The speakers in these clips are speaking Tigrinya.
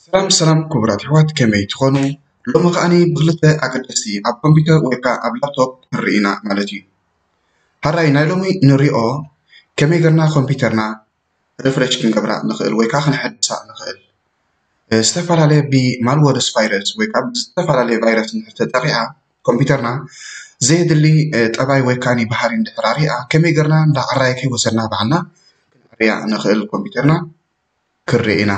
ሰላም ሰላም ክቡራት ኣሕዋት፣ ከመይ ትኾኑ? ሎሚ ከኣኒ ብክልተ ኣገደስቲ ኣብ ኮምፒውተር ወይ ከዓ ኣብ ላፕቶፕ ንርኢ ኢና ማለት እዩ። ሓራይ ናይ ሎሚ ንሪኦ ከመይ ገርና ኮምፒውተርና ሪፍሬሽ ክንገብራ ንኽእል ወይ ከዓ ክንሐድሳ ንኽእል። እ፣ ዝተፈላለየ ብማልወርስ ቫይረስ ወይ ከዓ ዝተፈላለየ ቫይረስ እንድሕር ተጠቂዓ ኮምፒውተርና ዘየድሊ፣ እ፣ ጠባይ ወይ ከዓ ባህሪ እንድሕር ኣሪኣ ከመይ ገርና እንዳዓራየ ከይወሰድና ባዕልና ክንዕርያ ንኽእል ኮምፒውተርና። ክርኢ ኢና።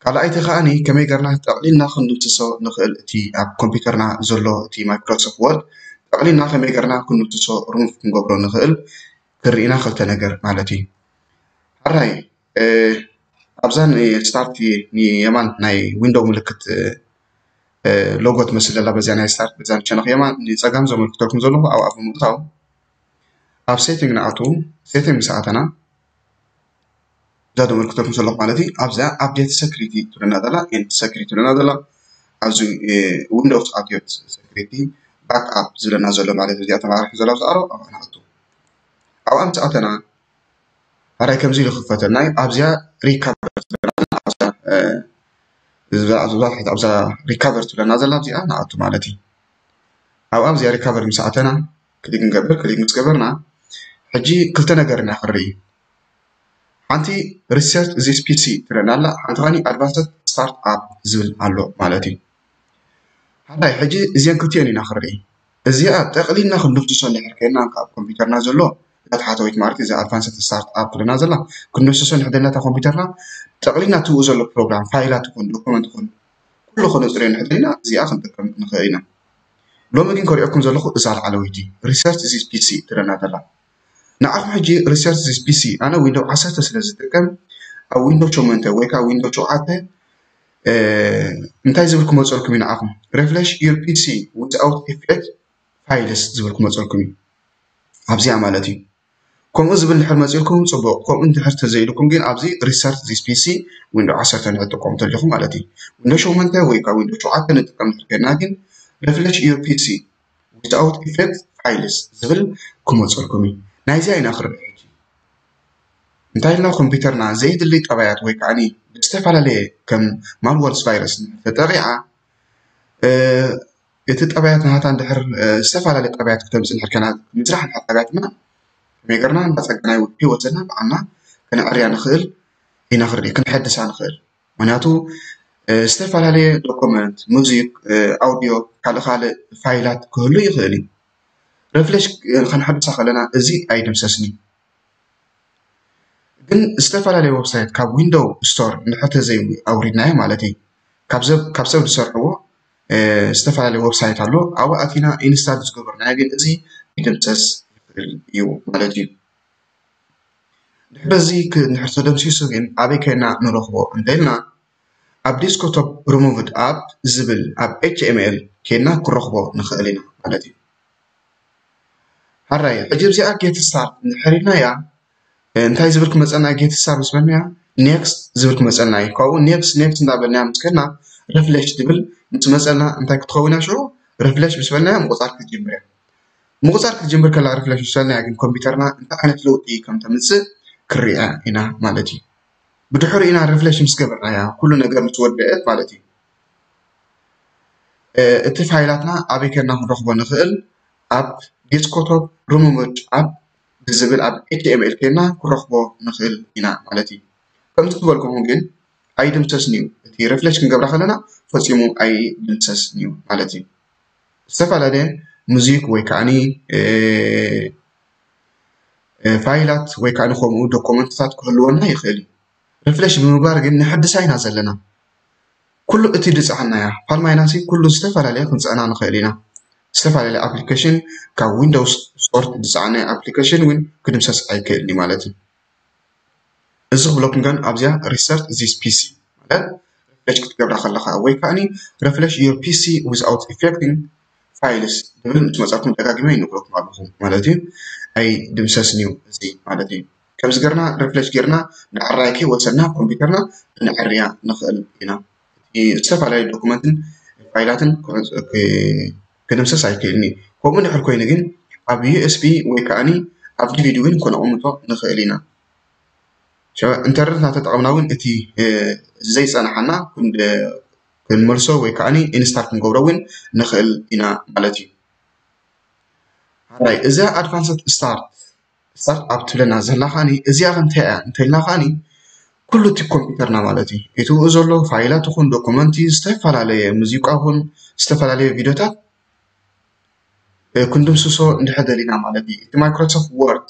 ካልኣይቲ ከኣኒ ከመይ ገርና ጠቕሊልና ክንድምስሶ ንኽእል፣ እቲ ኣብ ኮምፒውተርና ዘሎ እቲ ማይክሮሶፍት ወርድ ጠቕሊልና ከመይ ገርና ክንድምስሶ ሪሙቭ ክንገብሮ ንኽእል ክርኢ ኢና፣ ክልተ ነገር ማለት እዩ። ሓራይ እ፣ ኣብዛ ንስታርት ንየማን ናይ ዊንዶው ምልክት እ፣ እ፣ ሎጎ ትመስል ዘላ በዚኣ ናይ ስታርት በዛ ንሸነኽ የማን ንፀጋም ዘመልክተልኩም ዘለኹ ኣብኣ ብምእታው ኣብ ሴቲንግ ንኣቱ። ሴቲንግ ምስ ኣተና እዛ ዘመልክተልኩም ዘለኹ ማለት እዩ። ኣብዚኣ ኣፕዴት ሰክሪቲ ትብለና ዘላ፣ ኤንድ ሰክሪቲ ትብለና ዘላ፣ ኣብዚ እ፣ ዊንዶውስ ኣትዮት ሰክሪቲ ባክ ኣፕ ዝብለና ዘሎ ማለት እዩ። እዚኣ ተማሪሒ ዘላ ኣብዛ ኣሮ ኣብኣ ንኣቱ። ኣብኣ ምስ ኣተና ሓራይ ከምዚ ኢሉ ክፈተልና እዩ። ኣብዚኣ ሪካቨር ትብለና፣ ኣብዛ እ፣ እዛ ኣብዛ ታሕቲ ኣብዛ ሪካቨር ትብለና ዘላ ኣብዚኣ ንኣቱ ማለት እዩ። ኣብኣ ኣብዚኣ ሪካቨር ምስ ኣተና ክሊክ ንገብር። ክሊክ ምስ ገበርና ሕጂ ክልተ ነገር ኢና ክንርኢ። ሓንቲ ሪሰት ዚስ ፒሲ ትብለና ኣላ፣ ሓንቲ ከኣኒ ኣድቫንስድ ስታርት ኣፕ ዝብል ኣሎ ማለት እዩ። ሓራይ ሕጂ እዚአን ክልቲኦን ኢና ክንርኢ። እዚኣ ጠቕሊልና ክንድምስሶ እንድሕር ኮይንና ካብ ኮምፒውተርና ዘሎ እዛ ታሕተወይቲ ማለት እዛ ኣድቫንስድ ስታርት ኣፕ ትብለና ዘላ ክንድምስሶ እንድሕር ደለና እታ ኮምፒውተርና ጠቕሊልና ትብኡ ዘሎ ፕሮግራም ፋይላት ይኹን ዶኩመንት ይኹን ኩሉ ከነጽርዮ እንድሕር ደሊና እዚኣ ክንጥቀም ንኽእል ኢና። ሎሚ ግን ከርእየኩም ዘለኹ እዛ ላዕለወይቲ ሪሰት ዚስ ፒሲ ትብለና ዘላ። ንዓኹም ሕጂ ሪሰት ዚስ ፒሲ ኣነ ዊንዶው ዓሰርተ ስለ ዝጥቀም ኣብ ዊንዶው ሸሞንተ ወይ ከዓ ዊንዶው ሸውዓተ እ፣ እንታይ ዝብል ክመፀልኩም እዩ ንዓኹም? Refresh your ፒሲ without effect files ዝብል ክመፀልኩም እዩ። ኣብዚኣ ማለት እዩ። ከምኡ ዝብል እንድሕር መፂልኩም ፅቡቕ፣ ከምኡ እንድሕር ተዘይልኩም ግን ኣብዚ ሪሰት ዚስ ፒሲ ዊንዶ ዓሰርተ ንክትጥቀሙ ተሊኹም ማለት እዩ። ዊንዶ ሸሞንተ ወይ ከዓ ዊንዶ ሸውዓተ ንጥቀም እንድሕር ኮይንና ግን refresh your ፒሲ without effect files ዝብል ክመፀልኩም እዩ። ናይዚኣ ኢና ክርኢ ሕጂ። እንታይ ኢልና ኮምፒውተርና ዘየድሊ ጠባያት ወይ ከዓ ብዝተፈላለየ ከም ማልወርስ ቫይረስ ተጠቂዓ እ፣ እቲ ጠባያት ናታ እንድሕር እ፣ ዝተፈላለየ ጠባያት ክተምፅእ እንድሕር ከና ምዝራሕ እንድሕር ጠባያትና ከመይ ገርና እንዳፀገና ህይወትና ባዕልና ከነዕርያ ንኽእል ኢና፣ ክርኢ ክንሐድሳ ንኽእል። ምክንያቱ እ፣ ዝተፈላለየ ዶኩመንት፣ ሙዚክ፣ እ፣ ኣውዲዮ፣ ካልእ ካልእ ፋይላት ክህሉ ይኽእል እዩ። ሪፍሬሽ እ፣ ከነሐድሳ ከለና እዚ ኣይድምሰስን እዩ። ግን ዝተፈላለየ ዌብሳይት ካብ ዊንዶው ስቶር እንድሕር ተዘይ ኣውሪድናዮ ማለት እዩ፣ ካብ ሰብ ካብ ሰብ ዝሰርሕዎ እ፣ ዝተፈላለየ ዌብሳይት ኣሎ፣ ኣብኡ ኣቲና ኢንስታል ዝገበርናዮ ግን እዚ ይድምሰስ ይኽእል እዩ ማለት እዩ። ድሕሪ እዚ ክ- እንድሕር ተደምሲሱ ግን ኣበይ ከይድና ንረኽቦ እንተኢልና ኣብ ዲስክቶፕ ሪሙቭድ ኣፕ ዝብል ኣብ ኤች ቲ ኤም ኤል ከይድና ክረኽቦ ንኽእል ኢና ማለት እዩ። ሓራይ ሕጂ እዚኣ ጌት ስታርት እንድሕር ኢልናያ እንታይ ዝብል ክመፀና? ጌት ስታርት ምስ በልናያ ኔክስት ዝብል ክመፀና እዩ። ካብኡ ኔክስት ኔክስት እንዳበልናያ ምስ ከድና ሪፍሬሽ ትብል ምስ መፀና እንታይ ክትኸውን እያ ሽዑ? ሪፍሬሽ ምስ በልናያ ምቁፃር ክትጅምር እያ። ምቁፃር ክትጅምር ከላ ሪፍሬሽ ምስ በልናያ ግን ኮምፒውተርና እንታይ ዓይነት ለውጢ ከም ተምፅእ ክሪኣ ኢና ማለት እዩ። ብድሕሪኡ ኢና ሪፍሬሽ ምስ ገበርናያ ኩሉ ነገር ምስ ወደአት ማለት እዩ። እ፣ እቲ ፋይላትና ኣበይ ከድና ክንረኽቦ ንኽእል? ኣብ ዴስክቶፕ ሪሙቭድ ኣፕ ብዝብል ኣብ ኤች ቲ ኤም ኤል ከድና ክንረኽቦ ንኽእል ኢና ማለት እዩ። ከምዚ ዝበልኩኹም ግን ኣይድምሰስን እዩ። እቲ ሪፍሬሽ ክንገብራ ከለና ፈጺሙ ኣይድምሰስን እዩ ማለት እዩ። ዝተፈላለየ ሙዚክ ወይ ከዓኒ እ፣ እ፣ ፋይላት ወይ ከዓኒ ከምኡ ዶኮመንትታት ክህልወና ይኽእል እዩ። ሪፍሬሽ ብምግባር ግን ንሕድሳ ኢና ዘለና። ኩሉ እቲ ድፃዓናያ ፋል ማይናሲ ኩሉ ዝተፈላለየ ክንፅዕና ንኽእል ኢና። ዝተፈላለየ ኣፕሊኬሽን ካብ ዊንዶውስ ስቶር ድፃዓናያ ኣፕሊኬሽን እውን ክድምሰስ ኣይክእልን እዩ ማለት እዩ። እዚ ክብለኩም ግን ኣብዚኣ ሪሰት ዚስ ፒሲ ማለት ሪፍሬሽ ክትገብራ ከለኻ ወይ ከዓኒ ሪፍሬሽ ዩር ፒሲ ዊዝኣውት ኢፌክቲንግ ፋይልስ ዝብል ምስ መፃኩም ደጋጊመ ይነግረኩም ኣለኹ ማለት እዩ። ኣይድምሰስን እዩ እዚ ማለት እዩ። ከምዚ ገርና ሪፍሬሽ ጌርና ንዕራይ ከይወሰድና ኮምፒውተርና ክንዕርያ ንኽእል ኢና። እቲ ዝተፈላለዩ ዶኩመንትን ፋይላትን ክዕፅ- ክ- ክድምሰስ ኣይክእልን እዩ። ከምኡ ድሕር ኮይኑ ግን ኣብ ዩ ኤስ ቢ ወይ ከዓኒ ኣብ ዲ ቪ ዲ እውን ከነቕምጦ ንኽእል ኢና። ኢንተርነት እናተጠቐምና እውን እቲ ዘይፀናሓና ክንመልሶ ወይ ከዓ ኢንስታል ክንገብሮ እውን ንኽእል ኢና ማለት እዩ። ሓራይ እዛ ኣድቫንስድ ስታርት ስታርት ኣፕ ትብለና ዘላ ከዓኒ እዚኣ እንታይ እያ እንተልና ከዓኒ ኩሉ እቲ ኮምፒውተርና ማለት እዩ። እቲኡ ዘሎ ፋይላት ይኹን ዶኩመንቲ ዝተፈላለየ ሙዚቃ ይኹን ዝተፈላለየ ቪዲዮታት ክንድምስሶ እንድሕር ደሊና ማለት እዩ። እቲ ማይክሮሶፍት ወርድ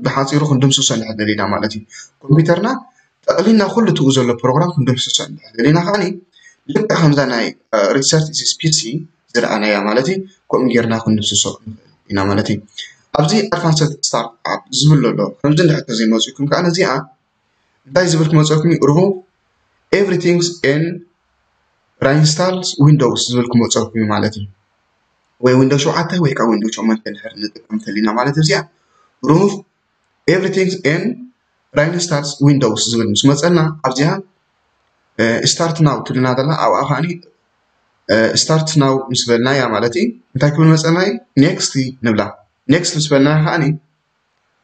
ብሓፂሩ ክንድምስሶ እንድሕር ደሊና ማለት እዩ። ኮምፒውተርና ጠቕሊልና ኩሉ እቲኡ ዘሎ ፕሮግራም ክንድምስሶ እንድሕር ደሊና ከዓኒ ልክዕ ከምዛ ናይ ሪሰርች ዚስ ፒሲ ዝረኣናያ ማለት እዩ። ከምኡ ጌርና ክንድምስሶ ኢና ማለት እዩ። ኣብዚ ኣድቫንስድ ስታርት ኣፕ ዝብል ዘሎ ከምዚ እንድሕር ተዘይመፅኩም ከዓ ነዚኣ እንታይ ዝብል ክመፀኩም እዩ? ሪሙቭ ኤቭሪቲንግስ ኤን ራይንስታልስ ዊንዶውስ ዝብል ክመፀኩም እዩ ማለት እዩ። ወይ ዊንዶው ሸውዓተ ወይ ከዓ ዊንዶው ሸሞንተ እንድሕር ንጥቀም እንተሊና ማለት እዚኣ ሪሙቭ ኤቭሪቲንግስ ኤን ራይንስታልስ ዊንዶውስ ዝብል ምስ መፀና ኣብዚኣ ስታርት ናው ትብልና ዘላ ኣብኣ ከዓኒ ስታርት ናው ምስ በልና እያ ማለት እዩ። እንታይ ክብል መፀና እዩ? ኔክስት ንብላ። ኔክስት ምስ በልና ከዓኒ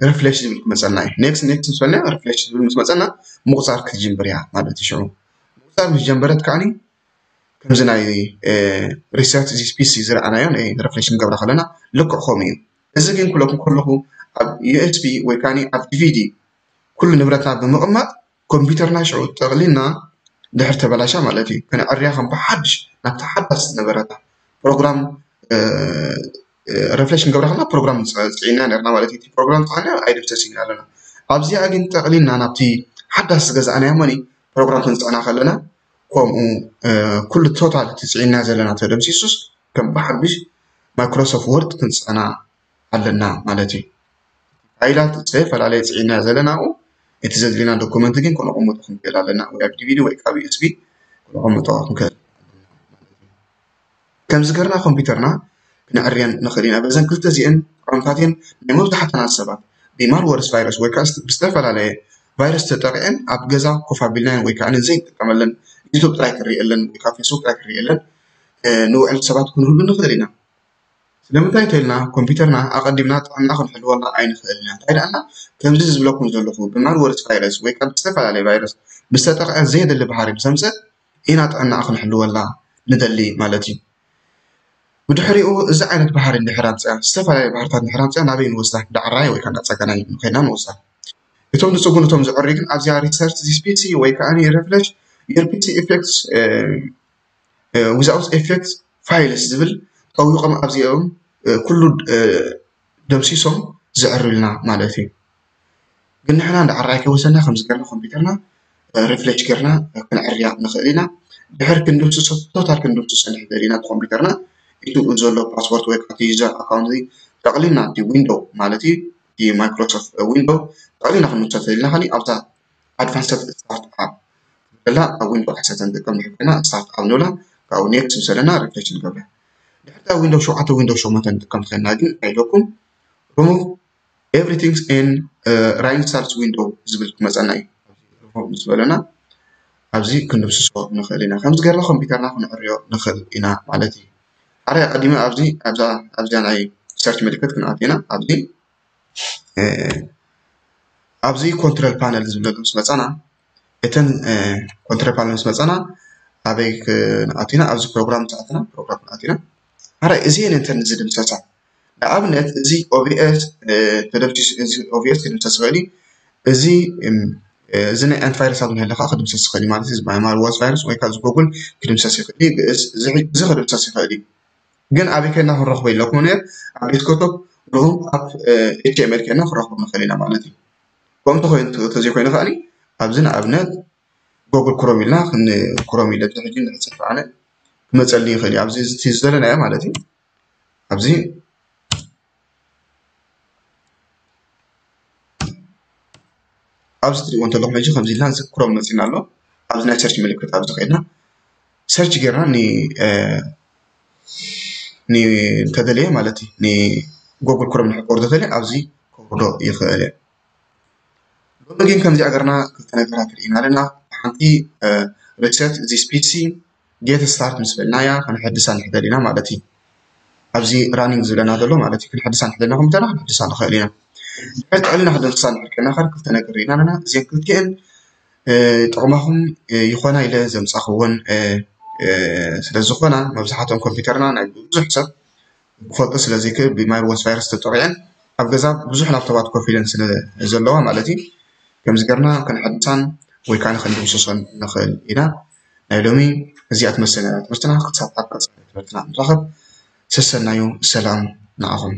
ሪፍሬሽ ዝብል ክመፀና እዩ። ኔክስት ኔክስት ምስ በልና ሪፍሬሽ ዝብል ምስ መፀና ምቁፃር ክትጅምር እያ ማለት እዩ። ሽዑ ምቁፃር ምስ ጀመረት ከዓኒ ከምዚ ናይ ሪሰርች ዚስ ፒሲ ዝረኣናዮ ናይ ሪፍሬሽ ክንገብራ ከለና ልክዕ ከምኡ እዩ። እዚ ግን ክብለኩም ከለኹ ኣብ ዩኤስቢ ወይ ከዓ ኣብ ዲቪዲ ኩሉ ንብረትና ብምቕማጥ ኮምፒውተርና ሽዑ ጠቕሊልና ድሕር ተበላሻ ማለት እዩ። ከነዕርያ ከም ብሓድሽ ናብቲ ሓዳስ ዝነበረታ ፕሮግራም ሪፍሬሽ ክንገብራ ከለና ፕሮግራም ፅዒና ነርና ማለት እዩ። እቲ ፕሮግራም ፅዓና ኣይድምሰስ ኢና ኣለና። ኣብዚኣ ግን ጠቕሊልና ናብቲ ሓዳስ ዝገዛእናዮ መኒ ፕሮግራም ክንፅዕና ከለና ከምኡ ኩሉ ቶታል እቲ ፅዒና ዘለና ተደምሲሱስ ከም ብሓድሽ ማይክሮሶፍት ወርድ ክንፅዕና ኣለና ማለት እዩ። ፋይላት ዝተፈላለየ ፅዒና ዘለና ኣብኡ እቲ ዘድልየና ዶኩመንት ግን ክነቐምጦ ክንክእል ኣለና ወይ ኣብ ዲቪዲ ወይ ካብ ዩኤስቢ ክነቐምጦ ክንክእል ኣለና ማለት እዩ። ከምዚ ገርና ኮምፒውተርና ክነዕርየን ንኽእል ኢና። በዘን ክልተ እዚአን ዓውንታት እየን ናይ መብዛሕትና ሰባት ብማልወርስ ቫይረስ ወይ ከዓ ብዝተፈላለየ ቫይረስ ተጠቂዐን ኣብ ገዛ ኮፍ ኣቢልናየን ወይ ከዓ ዘይንጥቀመለን ዩቱብ ጥራይ ክሪእለን ወይ ከዓ ፌስቡክ ጥራይ ክሪእለን ንውዕል ሰባት ክንህሉ ንኽእል ኢና። ስለምንታይ እንተኢልና ኮምፒውተርና ኣቐዲምና ጥዕና ክንሕልወላ ኣይንኽእል ኢና። እንታይ ደኣና ከምዚ ዝብለኩም ዘለኹ ብማልወርስ ቫይረስ ወይ ካብ ዝተፈላለየ ቫይረስ ምስ ተጠቕዐ ዘየድሊ ባህሪ ምስ ኣምፀት ኢና ጥዕናኣ ክንሕልወላ ንደሊ ማለት እዩ። ብድሕሪኡ እዚ ዓይነት ባህሪ እንድሕር ኣምፅኣ ዝተፈላለየ ባህርታት እንድሕር ኣምፅኣ ናበይ ንወስዳ? ዳዕራይ ወይ ከዓ እንዳፀገናይ ንኸይና ንወስዳ። እቶም ዝፅጉኑ እቶም ዝዕሪ ግን ኣብዚኣ ሪሰርች ዚስ ፒሲ ወይ ከዓ ሪፍሬሽ ዩር ፒሲ ኢፌክትስ ዊዛውት ኤፌክት ፋይልስ ዝብል ጠዊቆም ኣብዚኦም ኩሉ ደምሲሶም ዝዕርልና ማለት እዩ። ግን ንሕና እንዳ ዓራይ ከይወሰና ከምዚ ገርና ኮምፒውተርና ሪፍሬሽ ገርና ክንዕርያ ንኽእል ኢና። ድሕር ክንድምስሶ ቶታል ክንድምስሶ ንሕደል ኢና ኮምፒውተርና ኢቱ ዘሎ ፓስወርድ ወይ ከዓ ዩዘር ኣካውንት ጠቕሊልና እቲ ዊንዶው ማለት እዩ እቲ ማይክሮሶፍት ዊንዶው ጠቕሊልና ክንምስሶ ተደሊና ከኒ ኣብዛ ኣድቫንስድ ስታርት ኣፕ ዘላ ኣብ ዊንዶ ዓሰርተ ንጥቀም ድሕር ኮይና ስታርት ኣፕ ንብላ ካብኡ ኔክስት ምስ በለና ሪፍሬሽ ንገብራ። ድሕር ታ ዊንዶ ሸውዓተ ዊንዶ ሸሞንተ ንጥቀም ኮይና ግን ኣይለኩም ሪሙቭ ኤቭሪቲንግስ ኤን ራይንስታልስ ዊንዶ ዝብል ክመፀና እዩ። ሪሙቭ ምስ በለና ኣብዚ ክንድምስሶ ንኽእል ኢና። ከምዚ ገርና ኮምፒውተርና ክንዕርዮ ንኽእል ኢና ማለት እዩ። ኣረ ቀዲመ ኣብዚ ኣብዛ ኣብዚኣ ናይ ሰርች ምልክት ክንኣት ኢና ኣብዚ ኣብዚ ኮንትሮል ፓነል ዝብለሉ ምስ መፃና እተን ኮንትሮል ፓነል ምስ መፃና ኣበይ ክንኣት ኢና? ኣብዚ ፕሮግራም ዝኣትና ፕሮግራም ክንኣት ኢና። ኣረ እዚ እየን እንተን ዝድምሰሳ ንኣብነት እዚ ኦቢኤስ ተደምሲሱ እዚ ኦቢኤስ ክድምሰስ ይኽእል እዩ። እዚ እዚ ናይ ኣንቲቫይረስ ኣብ ንህለ ከዓ ክድምሰስ ይኽእል እዩ ማለት እዩ። ማልዋስ ቫይረስ ወይ ከዓ እዚ ጎጉል ክድምሰስ ይኽእል እዩ። እዚ ክድምሰስ ይኽእል እዩ። ግን ኣበይ ከድና ክንረኽቦ ኢለኩም ነር ኣብ ዴስክቶፕ ሩም ኣብ ኤች ኤም ኤል ከድና ክንረኽቦ ንኽእል ኢና ማለት እዩ። ከምኡ ተኮይኑ ተዘይኮይኑ ከዓኒ ኣብዚ ንኣብነት ጎግል ክሮም ኢልና ክሮም ኢለ ሕጂ ንሕፅፍ ኣነ ክመፀልኒ ይኽእል እዩ። ኣብዚ እቲ ዝደለናዮ ማለት እዩ። ኣብዚ ኣብዚ ትሪእዎ እንተለኹም ሕጂ ከምዚ ኢልና እዚ ክሮም መፂና ኣሎ። ኣብዚ ናይ ሰርች ምልክት ኣብዚ ከድና ሰርች ጌርና ንተደለየ ማለት እዩ ንጎግል ክሮም ንሕቆር ተደለየ ኣብዚ ከውርዶ ይኽእል እየ። ሎሚ ግን ከምዚ ኣገርና ክልተ ነገራት ርኢና ኣለና። ሓንቲ ሪሰት ዚስ ፒሲ ጌት ስታርት ምስ በልናያ ክንሕድሳ ንሕደል ኢና ማለት እዩ። ኣብዚ ራኒንግ ዝብለና ዘሎ ማለት እዩ። ክንሕድሳ ንሕደልና ኮምፒውተርና ክንሕድሳ ንኽእል ኢና። ሕዚ ልዕልና ክንደምስሳ ንሕር ከለና ከር ክልተ ነገር ርኢና ኣለና። እዚን ክልቲኤን ጥቕማኹም ይኾና ኢለ ዘምጻኽወን ስለዝኾና፣ መብዛሕትኦም ኮምፒውተርና ናይ ብዙሕ ሰብ ክፈልጦ ስለዘይክእል ብማይልወስ ቫይረስ ተጠቂዐን ኣብ ገዛ ብዙሕ ላፕቶባት ኮፍ ኢለን ስለ ዘለዋ ማለት እዩ። ከምዚ ገርና ክንሕድሳን ወይ ከዓ ክንድምስሶን ንኽእል ኢና። ናይ ሎሚ እዚኣ ትመስል ነራ ትምህርትና። ክሳብ ኣብ ቀፃሊ ትምህርትና ንራኸብ። ሰሰናዩ። ሰላም ንዓኹም።